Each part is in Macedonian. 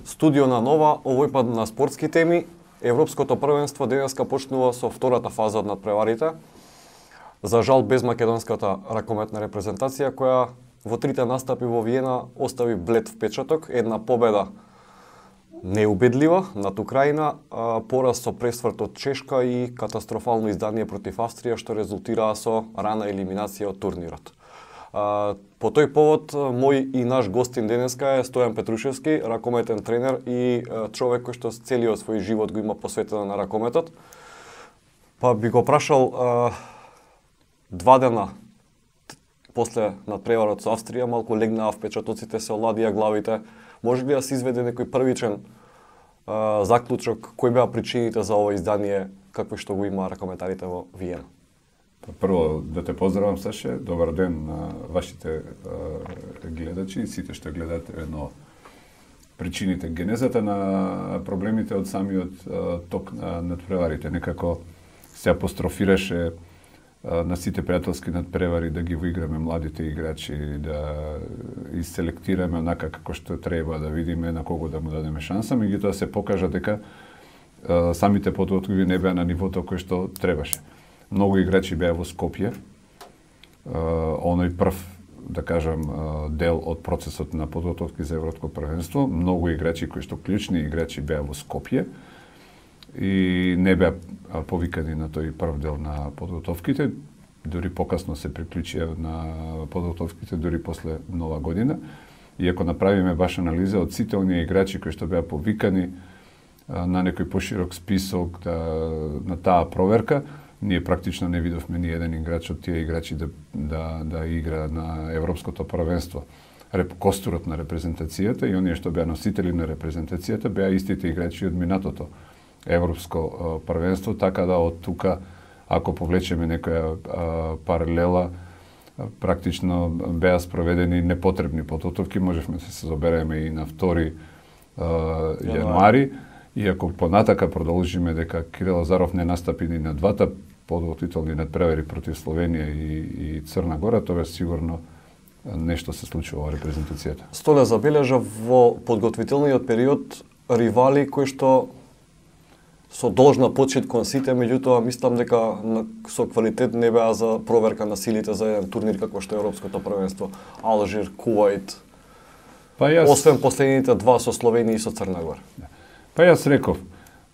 Студио на Нова, овој пат на спортски теми. Европското првенство денеска почнува со втората фаза од надпреварите. За жал без македонската ракометна репрезентација, која во трите настапи во Виена остави блед впечаток. Една победа неубедлива над Украина, пораз со пресврт од Чешка и катастрофално издание против Австрија, што резултираа со рана елиминација од турнирот. По тој повод, мој и наш гостин денеска е Стојан Петрушевски, ракометен тренер и човек кој што целиот свој живот го има посветено на ракометот. Па би го прашал, 2 дена после надпреварот со Австрија, малку легнаа впечатоците, се оладија главите. Може ли да се изведе некој првичен заклучок, кои беа причините за ова издание, какви што го има ракометарите во Виена? Прво, да те поздравам, Саше. Добар ден на вашите гледачи и сите што гледате едно причините, генезата на проблемите од самиот ток на надпреварите. Некако се апострофираше на сите пријателски надпревари да ги воиграме младите играчи, да изселектираме онака како што треба, да видиме на кого да му дадеме шанса, меѓутоа се покажа дека самите подготовки не беа на нивото кој што требаше. Многу играчи беа во Скопје. Оној прв, да кажам, дел од процесот на подготовки за Европско првенство. Многу играчи кои што клучни играчи беа во Скопје и не беа повикани на тој прв дел на подготовките. Дури покасно се приклучија на подготовките, дури после Нова година. И ако направиме баш анализа од сите оние играчи кои што беа повикани на некој поширок список на таа проверка, ние практично не видовме ни еден играч од тие играчи да игра на Европското првенство. Костурот на репрезентацијата и оние што беа носители на репрезентацијата беа истите играчи од минатото Европско првенство, така да од тука, ако повлечеме некоја паралела, практично беа спроведени непотребни подготовки, можевме да се собереме и на 2 јануари. И ако понатака продолжиме дека Кирил Лазаров не настапи ни на двата подготвителни надпревари против Словенија и Црна Гора, тоа сигурно нешто се случува во репрезентацијата. Столе забележа во подготвителниот период ривали кои што со должна почит кон сите, меѓутоа мислам дека со квалитет не беа за проверка на силите за еден турнир како што е Европското првенство. Алжир, Кувајт. Освен последните 2 со Словенија и со Црна Гора. Па јас реков,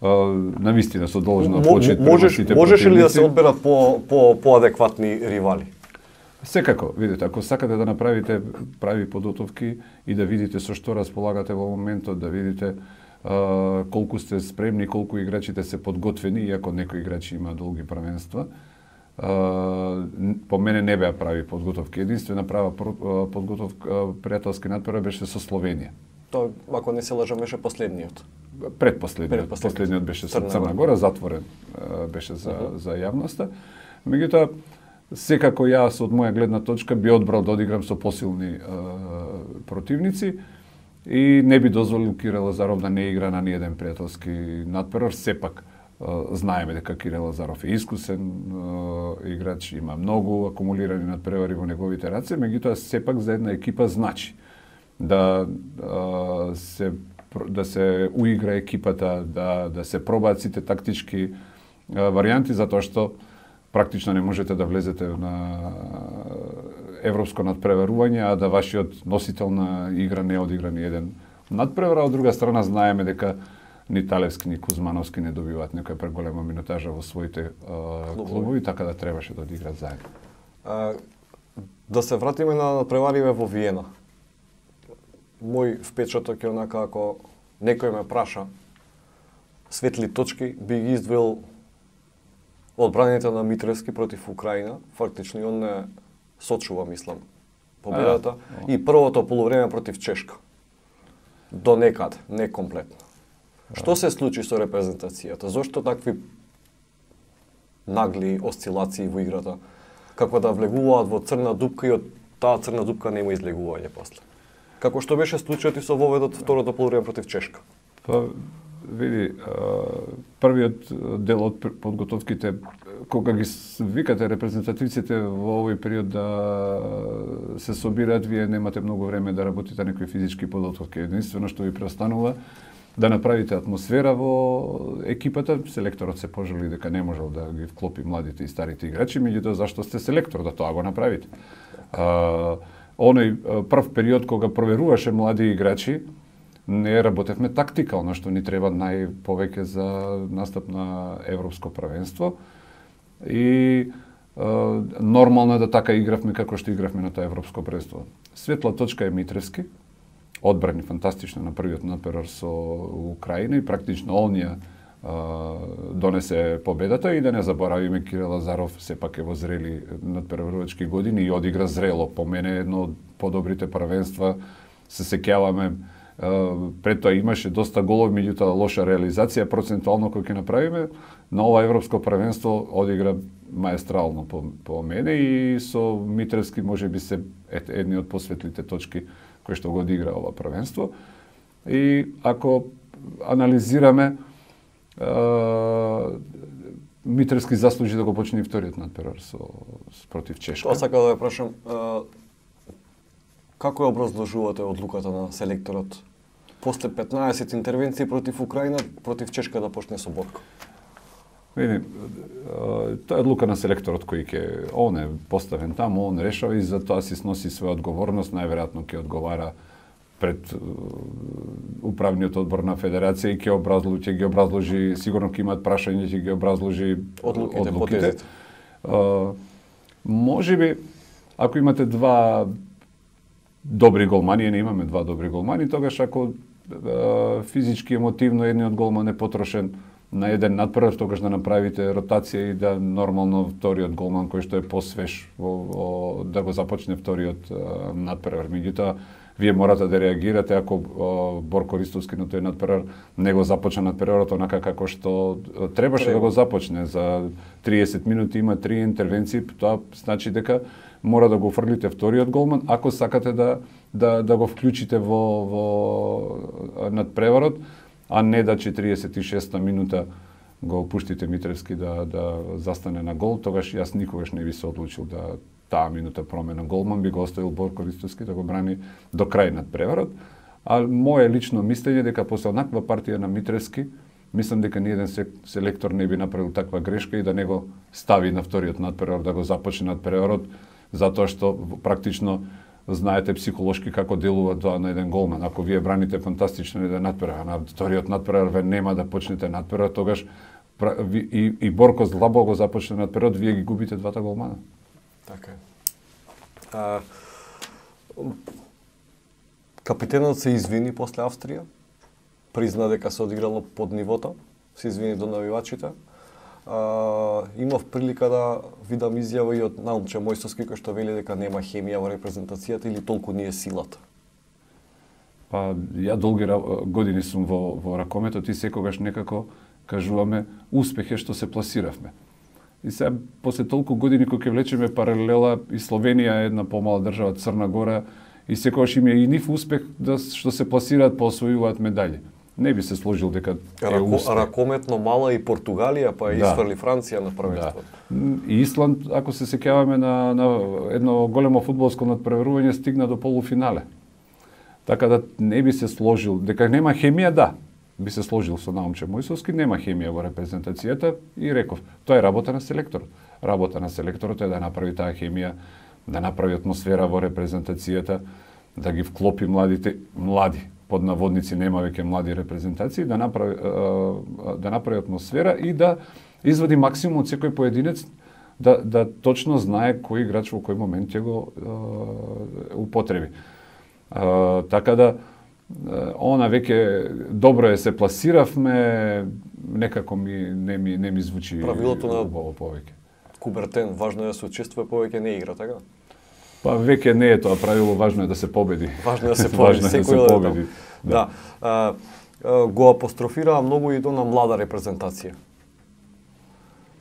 навистина со должна почит према сите противници. Можеше ли да се одберат поадекватни ривали? Секако, видите, ако сакате да направите прави подготовки и да видите со што располагате во моментот, да видите колку сте спремни, колку играчите се подготвени, иако некои играчи има долги првенства, по мене не беа прави подготовки. Единствена права подготовка пријателски надпревар беше со Словенија. Тоа, ако не се лажам, беше последниот. Последниот беше со Црна Гора, затворен беше за јавноста. Меѓутоа, секако јас од моја гледна точка би одбрал да одиграм со посилни противници и не би дозволил Кирил Лазаров да не игра на ниеден пријателски надпревар. Сепак знаеме дека Кирил Лазаров е искусен играч, има многу акумулирани надпревари во неговите раце, меѓутоа сепак за една екипа значи да се уигра екипата, да се пробаат сите тактички варијанти, затоа што практично не можете да влезете на европско надпреварување, а да вашиот носител на игра не одигра ни еден надпревар, а од друга страна знаеме дека ни Талевски, ни Кузмановски не добиваат некоја преголема минутажа во своите клубови, така да требаше да одиграат заедно. Да се вратиме на надпревариве во Виена. Мој впечаток е онака, ако некој ме праша светли точки, би ги издвоил одбраните на Митревски против Украина. Фактично и он не сочува, мислам, победата. И првото полувреме против Чешка. До некаде, не комплетно. Што се случи со репрезентацијата? Зошто такви нагли осцилации во играта? Како да влегуваат во црна дупка и од таа црна дупка нема излегување после? Како што беше случајот и со воведот второто полувреме против Чешка? Па, види, првиот дел од подготовките, кога ги викате репрезентативците во овој период да се собираат, вие немате многу време да работите некои физички подготовки. Единствено што ви преостанува да направите атмосфера во екипата. Селекторот се пожали дека не можел да ги вклопи младите и старите играчи, меѓутоа зашто сте селектор, да тоа го направите. Оној прв период кога проверуваше млади играчи, не работевме тактикално, што ни треба најповеќе за настап на Европско првенство. И нормално е да така игравме како што игравме на тоа Европско првенство. Светла точка е Митревски, одбрани фантастично на првиот надперор со Украина и практично онија донесе победата. И да не заборавиме Кирил Лазаров сепак е во зрели надперварувачки години и одигра зрело. По мене едно од подобрите првенства, се сеќаваме. Пред тоа имаше доста голови, меѓутоа лоша реализација процентуално кој ќе направиме. На ова Европско првенство одигра маестрално по мене и со Митревски можеби се едни од посветлите точки кои што го одигра ова првенство. И ако анализираме, Митревски заслужи да го почне и вториот надперор против Чешка. Тоа сакам да ја прашам, како ја образложувате одлуката на селекторот после 15 интервенции против Украина, против Чешка да почне со Борко? Види, тоа е одлука на селекторот он е поставен таму, он решава и за тоа си сноси своја одговорност, најверојатно ќе одговара пред управниот одбор на федерација и ќе ги образложи, сигурно ќе имаат прашања, ќе ги образложи одлуките. Можеби, ако имате два добри голмани, не имаме два добри голмани, тогаш ако физички, емотивно едниот голман е потрошен на еден надперор, тогаш да направите ротација и да нормално вториот голман кој што е посвеж да го започне вториот надперор. Меѓутоа, вие морате да реагирате ако Борко Ристовски на тој надперор не го започна надперорот онака како што требаше да го започне. За 30 минути има 3 интервенции, тоа значи дека мора да го фрлите вториот голман ако сакате да го вклучите во надпреварот, а не да 46-та минута го пуштите Митревски да застане на гол. Тогаш јас никогаш не би се одлучил да таа минута промена голман, би го оставил Борко Ристовски да го брани до крај надпреварот. А моје лично мислење дека после онаква партија на Митревски, мислам дека ниеден селектор не би направил таква грешка и да не го стави на вториот надпревар, да го започне надпреварот, затоа што практично знаете психолошки како делува тоа на еден голман. Ако вие браните фантастично еден надпревар, на вториот надпревар ве нема да почнете надпревар, тогаш и Борко слабо го започне надпреварот, вие ги губите двата голмана. Така е. Капитенот се извини после Австрија, призна дека се одиграло под нивото, се извини до навивачите. Имав прилика да видам изјава и од Наумче Мојсовски кој што вели дека нема хемија во репрезентацијата или толку не е силата. Па ја долги години сум во ракометот и секогаш некако кажуваме успех е што се пласиравме. И сега после толку години кога ќе влечеме паралела и Словенија е една помала држава, Црна Гора, и секогаш им е и нив успех што се пласираат, освојуваат медали. Не би се сложил дека е успех. Ракометно мала и Португалија, па изфрли Франција на првенството. И Исланд, ако се сеќаваме на едно големо фудбалско надпреварување, стигна до полуфинале. Така да не би се сложил дека нема хемија, да. Би се сложил со Наумче Мојсовски, нема хемија во репрезентацијата и реков, тоа е работа на селекторот. Работа на селекторот е да направи таа хемија, да направи атмосфера во репрезентацијата, да ги вклопи млади под наводници, нема веќе млади репрезентации, да направи атмосфера и да извади максимум од секој поединец, да точно знае кој играч во кој момент ќе го употреби. Така да она веќе добро е се пласиравме, некако не ми звучи правилото на повеќе. Кубертен, важно е да се учествува, повеќе не игра, така? Па веќе не е тоа правило, важно е да се победи. Важно е да се победи, секој победи. Да. Го апострофираа многу и до на млада репрезентација.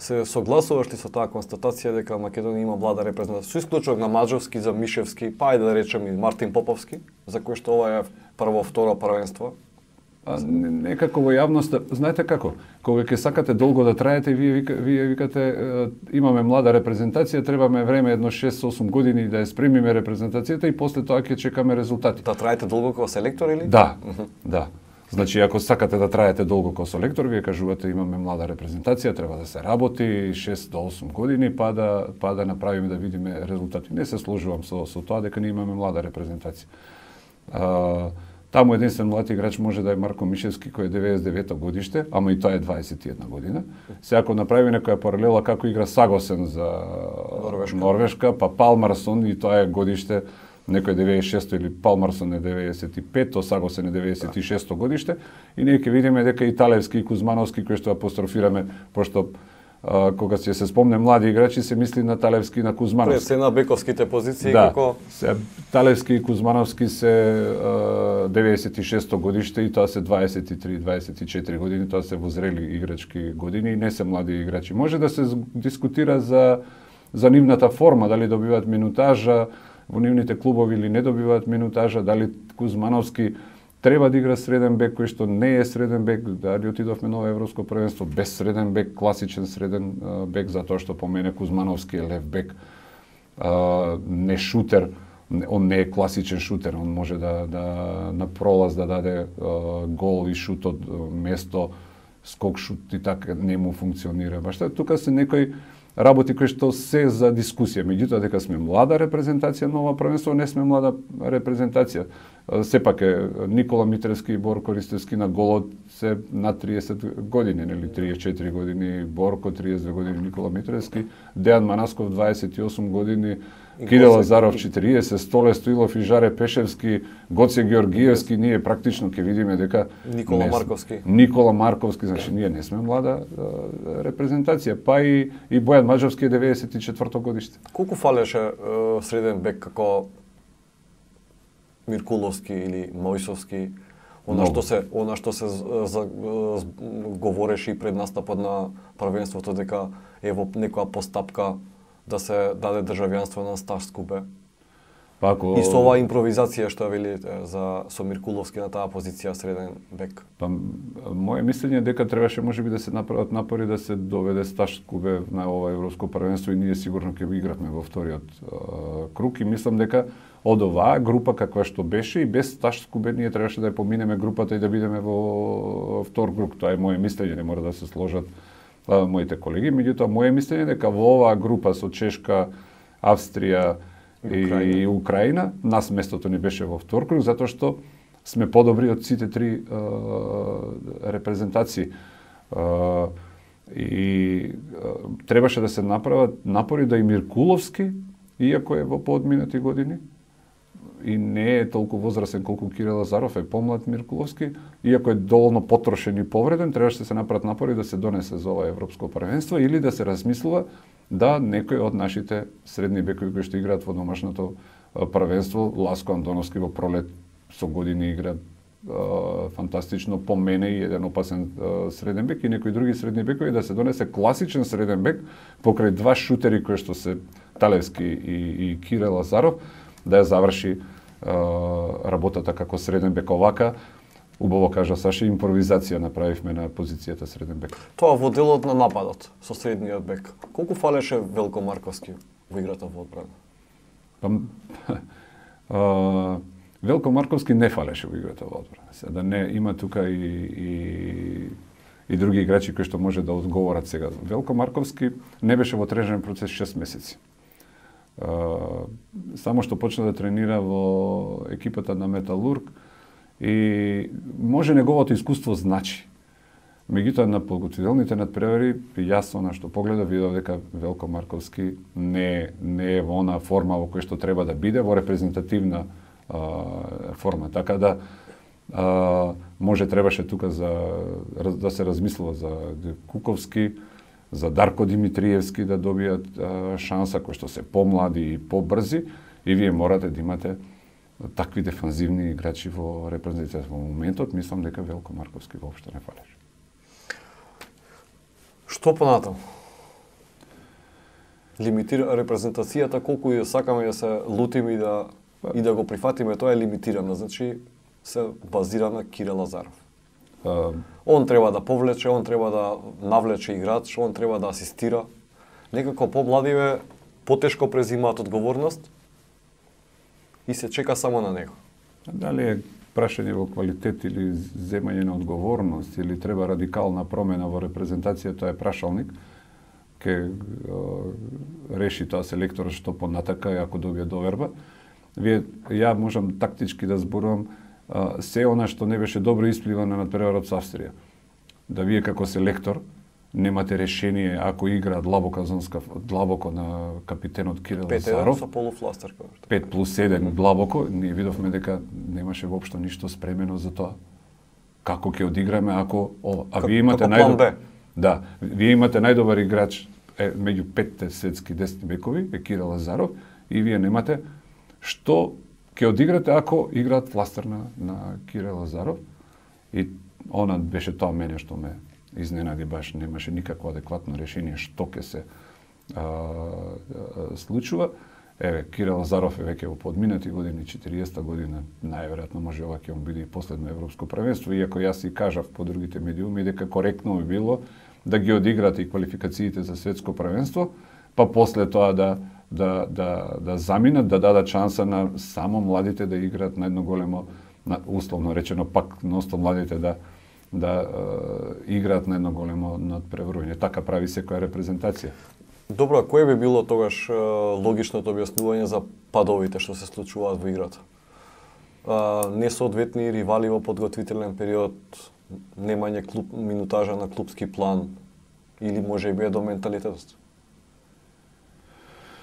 Се согласуваш ли со таа констатација дека Македонија има млада репрезентација? Со исклучок на Маджовски, за Мишевски, па ајде да речем и Мартин Поповски, за кој што ова е прво, второ првенство Некако во јавноста, знаете како, кога ќе сакате долго да траете, вие викате имаме млада репрезентација, требаме време едно 6-8 години да ја спремиме репрезентацијата и после тоа ќе чекаме резултати. Да траете долго како селектор или? Да, да. Значи, ако сакате да траете долго како селектор, вие кажувате имаме млада репрезентација, треба да се работи 6 до 8 години, па да направиме да видиме резултати. Не се сложувам со тоа дека ние имаме млада репрезентација. Таму единствен млад играч може да е Марко Мишевски, кој е 99 годиште, ама и тоа е 21 година. Сега ако направи некоја паралела како игра Сагосен за Норвешка, па Палмарсон и тоа е годиште некој 96 или Палмарсон е 95, то Сагосен е 96 годиште и ние ќе видиме дека и Талевски и Кузмановски кои што апострофираме, пошто кога се спомне млади играчи се мисли на Талевски и на Кузмановски. Пред се на бековските позиции да, како Талевски и Кузмановски се 96 годиште и тоа се 23-24 години, тоа се возрели играчки години и не се млади играчи. Може да се дискутира за нивната форма, дали добиваат минутажа во нивните клубови или не добиваат минутажа, дали Кузмановски треба да игра среден бек кој што не е среден бек, дали отидовме на европско првенство без среден бек, класичен среден бек, затоа што по мене Кузмановски е лев бек, не шутер, он не е класичен шутер, он може да на пролаз да даде гол и шут од место, скок шут и така не му функционира. Баш тука се некои работи кои што се за дискусија. Меѓутоа дека сме млада репрезентација на ова првенство, не сме млада репрезентација. Сепак е Никола Митревски и Борко Ристевски на голот се на 30 години, нели 34 години Борко, 32 години Никола Митревски, Дејан Манасков 28 години, Кире Лазаров 40, Столе Стоилов и Жаре Пешевски, Гоце Георгиевски, ние практично ќе видиме дека Никола Марковски, значи ние не сме млада репрезентација, па и Бојан Маџовски е 94 годиште. Колку фалеше среден бек како Миркуловски или Мојсовски, она што се говореше и пред настапот на првенството дека е во некоја постапка да се даде државјанство на Сташ Скубе. И со оваа импровизација што велите со Миркуловски на таа позиција среден бек. Моje мислење е дека требаше можеби да се направат напори да се доведе Сташ Скубе на ова европско првенство и ние сигурно ќе го игравме во вториот круг и мислам дека од оваа група каква што беше и без Сташ Скубе ние требаше да ја поминеме групата и да бидеме во втор круг. Тоа е моje мислење, не мора да се сложат моите колеги, меѓутоа моje мислење дека во оваа група со Чешка, Австрија и Украина, нас местото ни беше во втор круг затоа што сме подобри од сите три репрезентации. И требаше да се направат напори да и Миркуловски, иако е во поодминати години, и не е толку возрастен колку Кире Лазаров, е помлад Миркуловски, иако е доволно потрошен и повреден, требаше да се направат напори да се донесе за ова европско првенство или да се размислува да некој од нашите средни бекови кои што играат во домашното првенство, Ласко Андоновски во пролет со години игра фантастично, по мене и еден опасен среден бек и некои други средни бекови, да се донесе класичен среден бек покрај два шутери кои што се Талевски и Кире Лазаров, да ја заврши работата како среден бек. Овака, убаво кажа Саша, импровизација направивме на позицијата среден бек. Тоа во делот на нападот со средниот бек. Колку фалеше Велко Марковски во играта во одбрана? Велко Марковски не фалеше во играта во одбрана. Да не има тука и други играчи кои што може да одговорат сега. Велко Марковски не беше во тренажен процес 6 месеци. Само што почна да тренира во екипата на Металург и може неговото искуство значи. Меѓутоа на подготвителните надпревари јас она што погледав видов дека Велко Марковски не е во она форма во која што треба да биде, во репрезентативна форма. Така да може требаше тука да се размислува за Куковски, за Дарко Димитриевски да добијат шанса кои што се помлади и побрзи и вие морате да имате такви дефанзивни играчи во репрезентацијата. Во моментот мислам дека Велко Марковски воопшто не фалеше. Што понатаму? Лимитира репрезентацијата, колку ја сакаме да се лутиме и да го прифатиме, тоа е лимитирано, значи се базира на Кире Лазаров. Он треба да повлече, он треба да навлече играч, он треба да асистира. Некако помладиве потешко презимаат одговорност и се чека само на него. Дали е прашање во квалитет или земање на одговорност или треба радикална промена во репрезентацијата е прашалник, ке реши тоа селекторот што понатака и ако добие доверба. Ја можам тактички да зборувам се она што не беше добро испливано на надпреварот со Австрија. Да вие како селектор немате решение ако игра длабоко на капитенот Кирил Лазаров. 5-1 со полуфластер. 5+1 длабоко, ние видовме дека немаше воопшто ништо спремено за тоа. Како ќе одиграме ако ова? А вие имате најдобар. Да, вие имате најдобар играч меѓу 5 светски десни бекови, е Кирил Лазаров, и вие немате што ќе одиграте ако играат фластер на Кирил Лазаров. И она беше тоа мене што ме изненади, баш немаше никакво адекватно решение што ќе се случува. Еве, Кирил Лазаров е веќе во подминати години, 40-та година, најверојатно може ова ќе му биде и последно европско првенство, иако јас и кажав по другите медиуми дека коректно би било да ги одиграат и квалификациите за светско првенство, па после тоа да заминат, да дадат шанса на само младите да играат на едно големо, условно речено пак носто младите да играат на едно големо надпреварување. Така прави секоја репрезентација. Добро, кое би било тогаш логичното објаснување за падовите што се случуваат во играта? Несоодветни ривали во подготвителен период, немање минутажа на клупски план или може би е до менталитетот?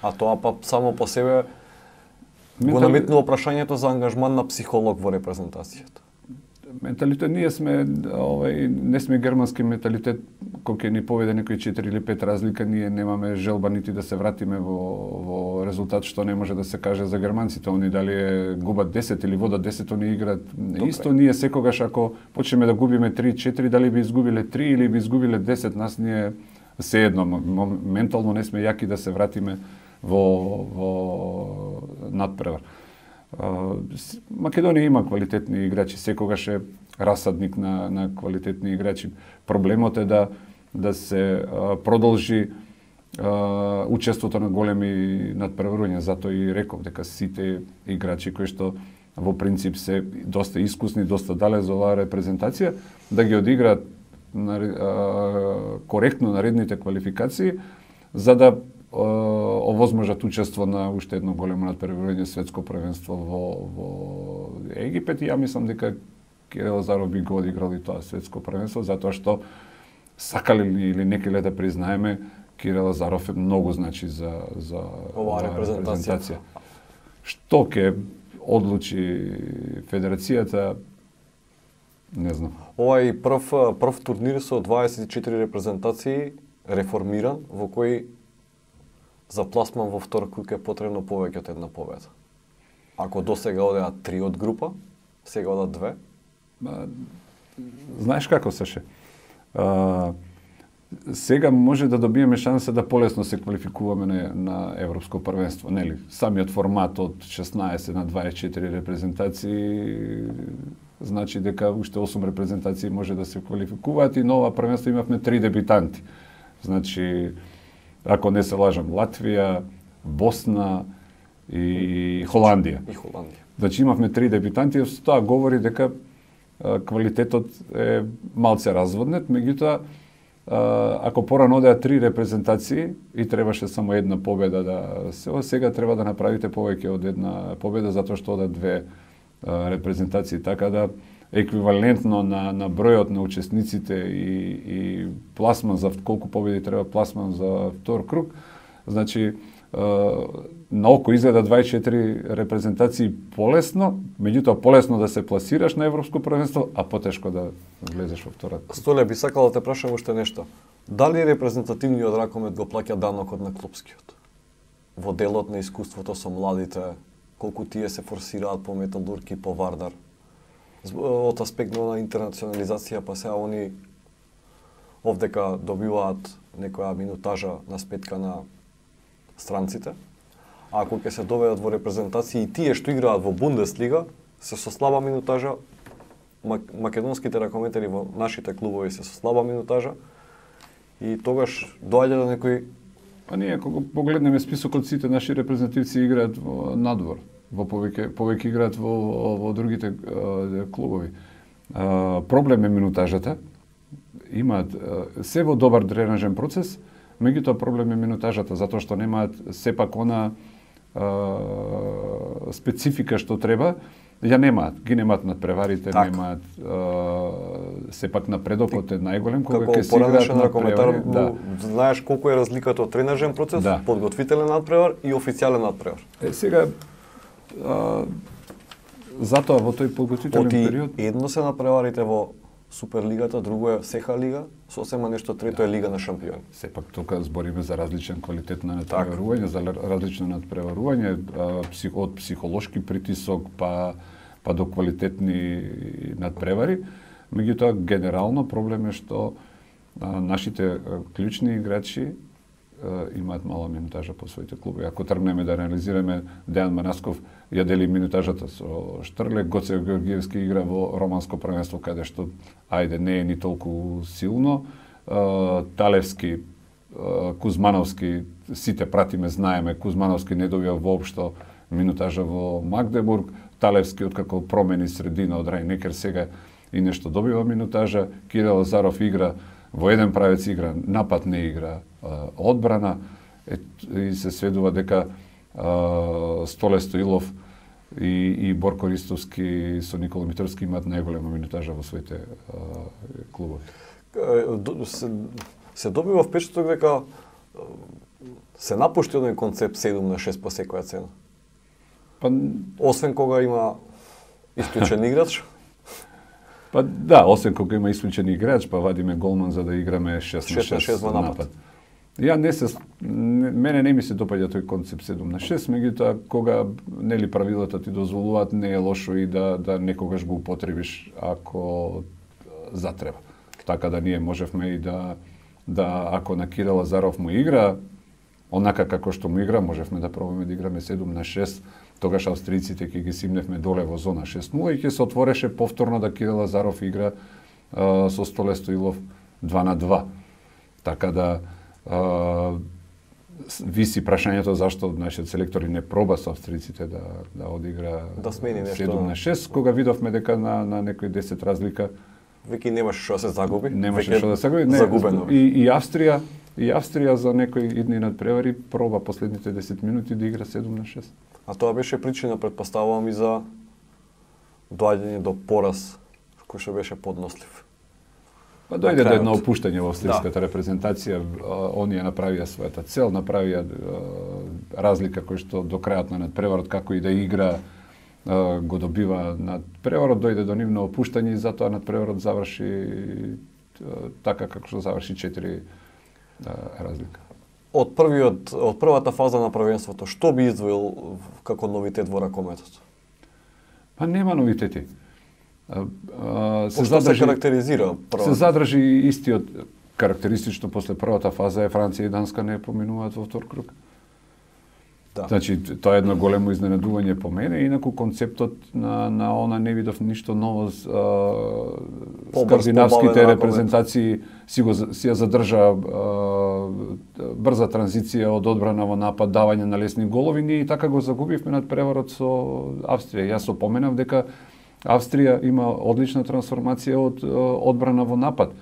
А тоа па само по себе го наметнува прашањето за ангажман на психолог во репрезентацијата. Менталитет, ние сме, не сме германски менталитет, кој ќе ни поведе некои 4 или 5 разлика, ние немаме желба нити да се вратиме во резултат што не може да се каже за германците. Они дали губат 10 или водат 10, они играат исто. Ние секогаш ако почнеме да губиме 3-4, дали би изгубиле 3 или би изгубиле 10, нас ние сеедно, ментално не сме јаки да се вратиме во надпревар. Македонија има квалитетни играчи, секогаш е расадник на квалитетни играчи. Проблемот е да се продолжи учеството на големи надпреварувања, затоа и реков дека сите играчи кои што во принцип се доста искусни, доста дале за оваа репрезентација, да ги одиграат коректно наредните квалификации, за да овозможат учество на уште едно големо надпреварување светско првенство во Египет. И ја мислам дека Кирил Лазаров би го одиграл и тоа светско првенство, затоа што сакали или не ке да признаеме, Кирил Лазаров е многу значи за оваа репрезентација. Што ќе одлучи федерацијата, не знам. Ова е прв турнир со 24 репрезентации реформиран, во кој за пласман во втор круг е потребно повеќе од една победа. Ако досега одеа 3 од група, сега одат 2. Знаеш како Саше? Сега може да добиеме шанса да полесно се квалификуваме на европско првенство, нели? Самиот формат од 16 на 24 репрезентации значи дека уште 8 репрезентации може да се квалификуваат и на ова првенство имавме 3 дебитанти. Значи, ако не се лажам, Латвија, Босна и Холандија. Значи имавме 3 дебитанти, тоа говори дека квалитетот е малце разводнет, меѓутоа ако порано одеа 3 репрезентации и требаше само една победа да се, сега треба да направите повеќе од една победа затоа што одат 2 репрезентации, така да еквивалентно на бројот на учесниците и пласман за колку победи треба пласман за втор круг. Значи на око изгледа 24 репрезентации полесно, меѓутоа полесно да се пласираш на европско првенство, а потешко да влезеш во втора. Столе, би сакал да те прашам уште нешто. Дали репрезентативниот ракомет го плаќа данокот на клупскиот? Во делот на искуството со младите, колку тие се форсираат по Металург и по Вардар? Од аспект на интернационализација, па сега они овдека добиваат некоја минутажа на спетка на странците, а ако ќе се доведат во репрезентации и тие што играат во Бундеслига, се со слаба минутажа, македонските ракометари во нашите клубови се со слаба минутажа и тогаш доаѓа до некој. Па ние кога погледнеме списокот, сите наши репрезентативци играат во надвор, во повеќе играат во другите клубови. Проблем е минутажата. Имаат се во добар тренажен процес, меѓутоа проблем е минутажата затоа што немаат сепак она специфика што треба. Ја немаат, ги немаат надпреварите, немаат сепак напредокот е најголем кога ќе се играат надпревари. Знаеш колку е разликата од тренажен процес, подготвителен надпревар и официјален надпревар. Сега затоа во тој подготвителен период едно се надпреварите во Суперлигата, друго е СХ лига, сосема нешто трето е Лига на шампиони. Сепак тука збориме за различен квалитет на надпреварување, за различно надпреварување, од психолошки притисок па до квалитетни надпревари. Меѓутоа генерално проблем е што нашите клучни играчи имаат мала минутажа по своите клубови. Ако тргнеме да анализираме, Дејан Манасков ја дели минутажата со Штрле, Гоце Георгиевски игра во романско првенство каде што не е ни толку силно. Талевски, Кузмановски, сите пратиме, знаеме, Кузмановски не добија воопшто минутажа во Магдебург, Талевски откако промени средина од Рајнекер сега и нешто добива минутажа, Кирил Лазаров игра во еден правец игра, напад не игра, одбрана и се сведува дека Столе Стоилов и Борко Ристовски со Никола Митровски имаат најголема минутажа во своите клубови. Се добива впечаток дека се напушти оден концепт 7-6 по секоја цена. Освен кога има исклучен играч. Па да, освен кога има исклучен играч, па вадиме голман за да играме 6-6 во напад. Мене не ми се допаѓа тој концепт 7-6, меѓутоа кога нели правилата ти дозволуваат, не е лошо и да некогаш го употребиш ако затреба. Така да ние можевме и да ако на Кирил Лазаров му игра онака како што му игра, можевме да пробаме да играме 7-6. Тогаш австријците ќе ги симневме доле во зона 6-0 и ќе се отвореше повторно да Кирил Лазаров игра со Столе Стоилов 2-2. Така да виси прашањето зашто нашиот селектор не проба со австријците да одигра да смени нешто 7-6, кога видовме дека на некои 10 разлика веќе немаше што да се загуби. Немаше што да се загуби. Загубено. И Австрија за некои идни надпревари проба последните 10 минути да игра 7-6. А тоа беше причина, претпоставувам, и за доаѓање до пораз кој што беше поднослив. Па дојде до едно опуштање во австриската репрезентација, они ја направија својата цел, направија разлика кој што до крајот на надпреварот како и да игра го добива надпреварот, дојде до нивно опуштање и затоа надпреварот заврши така како што заврши 4 разлика. Од првата фаза на првенството, што би издвоил како новитет во ракометот? Па нема новитети. Се карактеризира првата? Се задржи истиот карактеристично после првата фаза е Франција и Данска не поминуваат во втор круг. Да. Значи, тоа е едно големо изненадување по мене, инаку концептот на она не видов ништо ново. Скандинавските репрезентации си ја задржа брза транзиција од одбрана во напад, давање на лесни голови, ние и така го загубивме надпреварот со Австрија. Јас опоменав дека Австрија има одлична трансформација од одбрана во напад.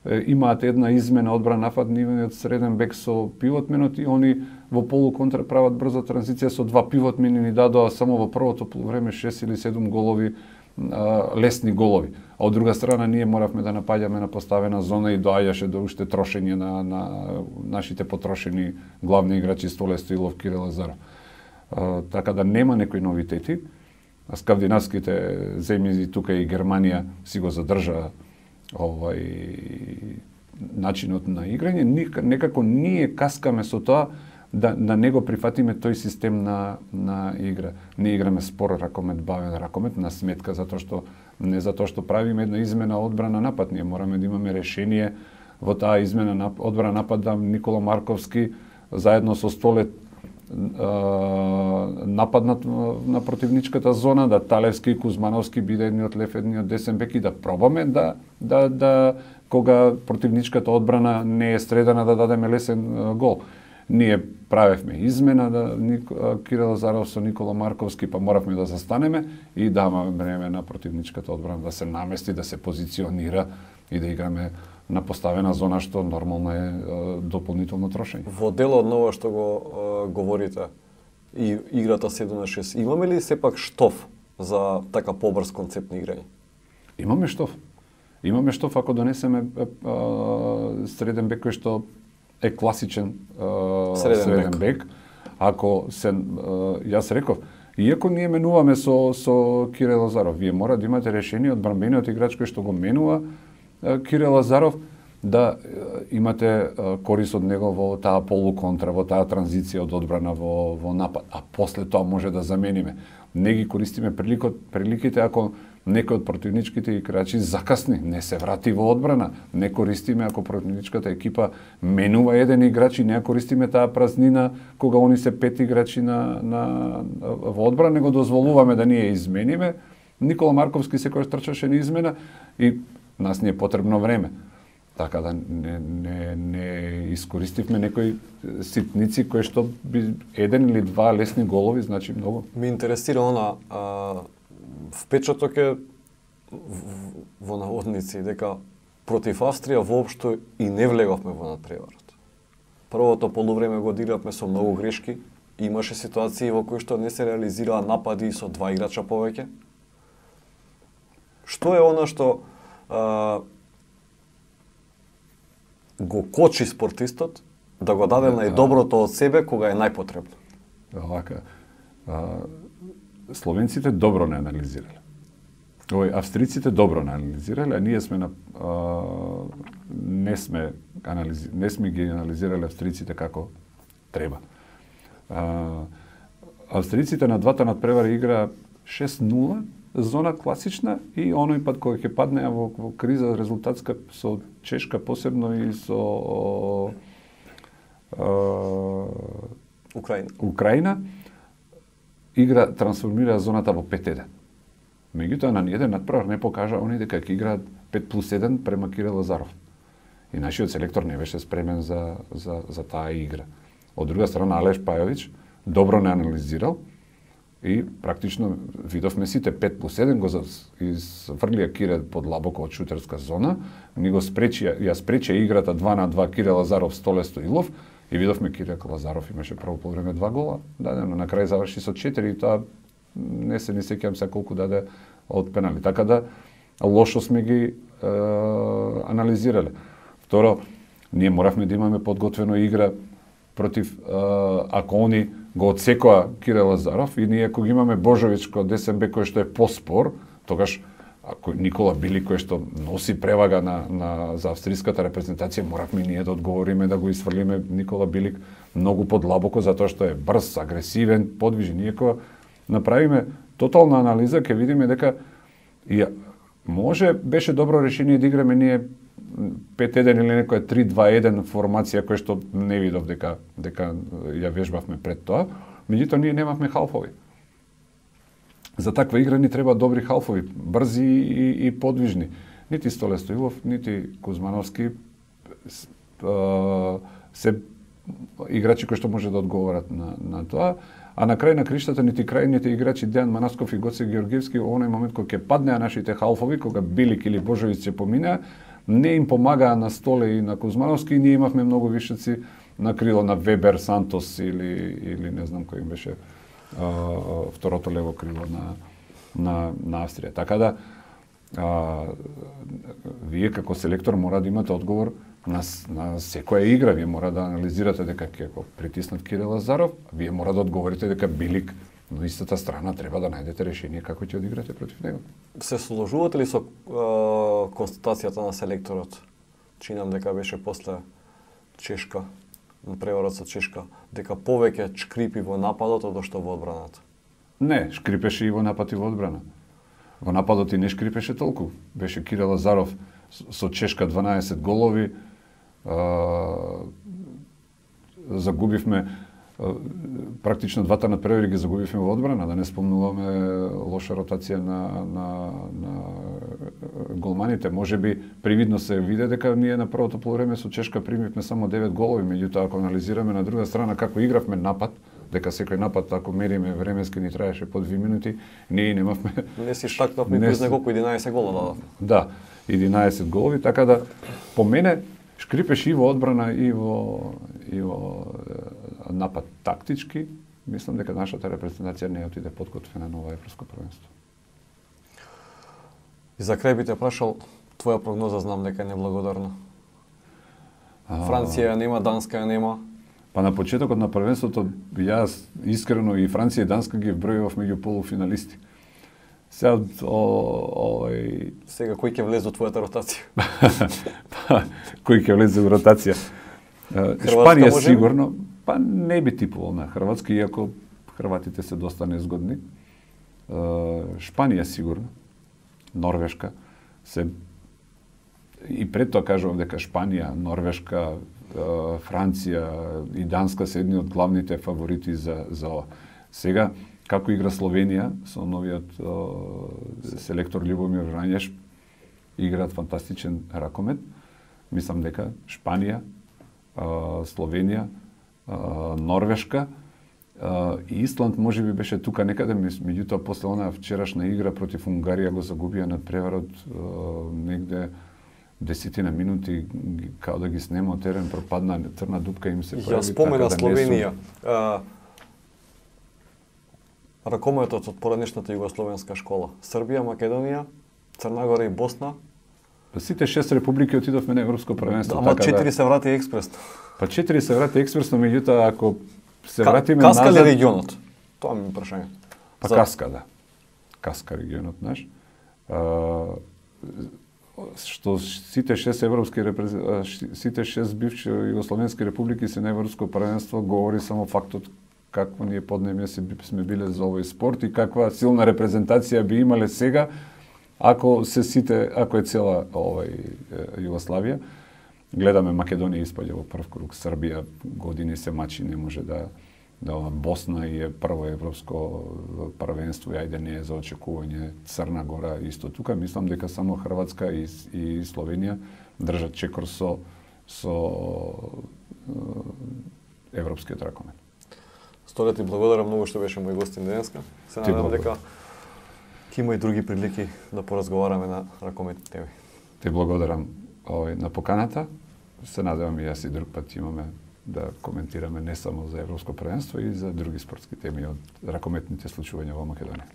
Имаат една измена одбрана напад, нивниот среден бек со пивотменот и они во полуконтра прават брза транзиција со два пивотмени, ни дадоа само во првото полувреме 6 или 7 голови, лесни голови. А од друга страна ние моравме да напаѓаме на поставена зона и доаѓаше до уште трошење на нашите потрошени главни играчи Столе Стоилов, Кирил Лазаров. Така да нема некои новитети. Скандинавските земји, тука и Германија, си го задржа начинот на играње. Некако ние каскаме со тоа да не го прифатиме тој систем на игра. Не играме спор ракомет, бавен ракомет на сметка не затоа што правиме една измена одбрана напад, ние мораме да имаме решение во таа измена одбрана напад да Никола Марковски заедно со Столе нападнат на противничката зона, да Талевски и Кузмановски биде едниот лев, едниот десен бек и да пробаме да кога противничката одбрана не е средена да дадеме лесен гол. Ние правевме измена Кирил Лазаров со Никола Марковски, па моравме да застанеме и даваме време на противничката одбрана да се намести, да се позиционира и да играме на поставена зона, што нормално е дополнително трошење. Во делот на ова што го говорите и играта 7 на 6, имаме ли сепак штоф за така побрз концепт на играње? Имаме штоф. Имаме штоф ако донесеме среден бек кој што е класичен среден бек. Ако се јас реков, иако ние менуваме со Кирил Лазаров, вие мора да имате решение од бранбениот играч кој што го менува Кирил Лазаров, да имате корис од него во таа полуконтра, во таа транзиција од одбрана во напад, а после тоа може да замениме. Не ги користиме приликите ако некој од противничките играчи закасни, не се врати во одбрана, не користиме ако противничката екипа менува еден играч и не користиме таа празнина кога они се 5 играчи во одбрана, него дозволуваме да ние измениме. Никола Марковски секојаш трчаше на измена и нас не е потребно време. Така да не искористивме некои ситници кои што би еден или два лесни голови, значи многу. Ме интересира впечаток е во наводници дека против Австрија воопшто и не влеговме во надпреварот. Првото полувреме го одигравме со многу грешки, имаше ситуации во кои што не се реализираа напади со два играча повеќе. Што е она што го кочи спортистот да го даде најдоброто од себе кога е најпотребно? Вака, словенците добро не анализирале. Австриците добро не анализирале, а ние не сме ги анализирале австриците како треба. Австриците на двата надпревари игра 6-0, зона класична и оној пат кој ќе паднеа во криза резултатска со Чешка посебно и со Украина, игра трансформира зоната во 5-1. Меѓутоа на ниеден надпревар не покажа они дека ќе играат 5+1 према Кирил Лазаров. И нашиот селектор не беше спремен за таа игра. Од друга страна Алеш Пајович добро не анализирал и практично видовме сите 5+1 го изфрлија Кире подлабоко од шутерска зона, ни го ја спречи играта 2-2 Кире Лазаров Столе Стоилов и видовме Кире Лазаров имаше прво полувреме 2 гола, дадено на крај заврши со 4 и тоа не се ни сеќавам се колку даде од пенали. Така да лошо сме ги анализирале. Второ, ние моравме да имаме подготвена игра против ако они го одсекоа Кирил Лазаров и ние ако ги имаме Божович кој десен бек кој што е поспор, тогаш ако Никола Билик кој што носи превага за австриската репрезентација, моравме ние да одговориме да го исфрлиме Никола Билик многу подлабоко затоа што е брз, агресивен, подвижен. Иако направиме тотална анализа, ќе видиме дека може беше добро решение да играме ние 5-1 или некоја 3-2-1 формација која што не видов дека ја вежбавме пред тоа, меѓутоа ние немавме халфови. За таква игра ни треба добри халфови, брзи и подвижни. Нити Столе Стоилов, нити Кузмановски се играчи кои што може да одговорат на тоа. А на крај на криштата нити крајните играчи Дејан Манасков и Гоце Георгиевски во оној момент кога ќе паднеа нашите халфови, кога Билик или Божовиќ се поминаа, не им помагаа на Столе и на Кузмановски и ние имавме многу вишеци на крило на Вебер, Сантос или не знам кој им беше второто лево крило на Австрија. Така да вие како селектор мора да имате одговор на секоја игра. Вие мора да анализирате дека ќе го притиснат Кирил Лазаров, вие мора да одговорите дека Билик на истата страна треба да најдете решение како ќе одиграте против него. Се сложувате ли со констатацијата на селекторот? Чинам дека беше после Чешка, преварот со Чешка, дека повеќе шкрипи во нападот од што во одбраната? Не, шкрипеше и во напад и во одбрана. Во нападот и не шкрипеше толку. Беше Кирил Лазаров со Чешка 12 голови, загубивме практично двата надпревари ги загубивме во одбрана, да не спомнуваме лоша ротација на голманите. Можеби привидно се виде дека ние на првото полувреме со Чешка примивме само 9 голови, меѓутоа ако анализираме на друга страна како игравме напад, дека секој напад ако мериме временски ни траеше по 2 минути, ние немавме. Не си штакнавме без неколку 11 гола дадовме. Да, 11 голови, така да по мене шкрипеш и во одбрана и во напад тактички. Мислам дека нашата репрезентација не отиде подготвена на ова европско првенство. И за крај би те прашал, твоја прогноза знам дека е неблагодарна. Франција нема, Данска нема. Па на почетокот на првенството јас искрено и Франција и Данска ги вбројував меѓу полуфиналисти. Сега кој ќе влезе во твојата ротација? Кој ќе влезе во ротација? Шпанија сигурно, па не би типувал на Хрватска, иако хрватите се доста незгодни. Шпанија сигурно, Норвешка се и пред тоа кажувам дека Шпанија, Норвешка, Франција и Данска се едни од главните фаворити за ова. Сега како игра Словенија со новиот селектор Љубомир Врањеш, играат фантастичен ракомет. Мислам дека Шпанија, Словенија, Норвешка и Исланд можеби беше тука некаде, меѓутоа после онаа вчерашна игра против Унгарија го загубија над преварот негде 10 минути, као да ги снема од терен, пропадна црна дупка им се прави. Ја спомена Словенија. Ракометот од поранешната југословенска школа. Србија, Македонија, Црна Гора и Босна. Сите 6 републики отидовме на европско првенство. Ама 4 се врати експресно. Па 4 се врати експресно, меѓутоа ако се вратиме назад... Каска ли регионот? Тоа ми е прашање. Па каска, да. Каска регионот наш. Што сите 6 европски сите 6 бивши југословенски републики се на европско првенство говори само фактот какво ние поднемје сме биле за овој спорт и каква силна репрезентација би имале сега ако е цела Југославија. Гледаме Македонија испаѓа во прв круг, Србија години се мачи, не може да Босна и е прво европско првенство, ајде не е за очекување, Црна Гора исто тука. Мислам дека само Хрватска и Словенија држат чекор со европскиот ракомет. Сторе ти благодарам многу што беше мој гостин денеска. Се надевам дека ќе има и други прилики да поразговараме на ракометни теми. Те благодарам на поканата. Се надевам и јас и друг пат имаме да коментираме не само за европско првенство и за други спортски теми од ракометните случувања во Македонија.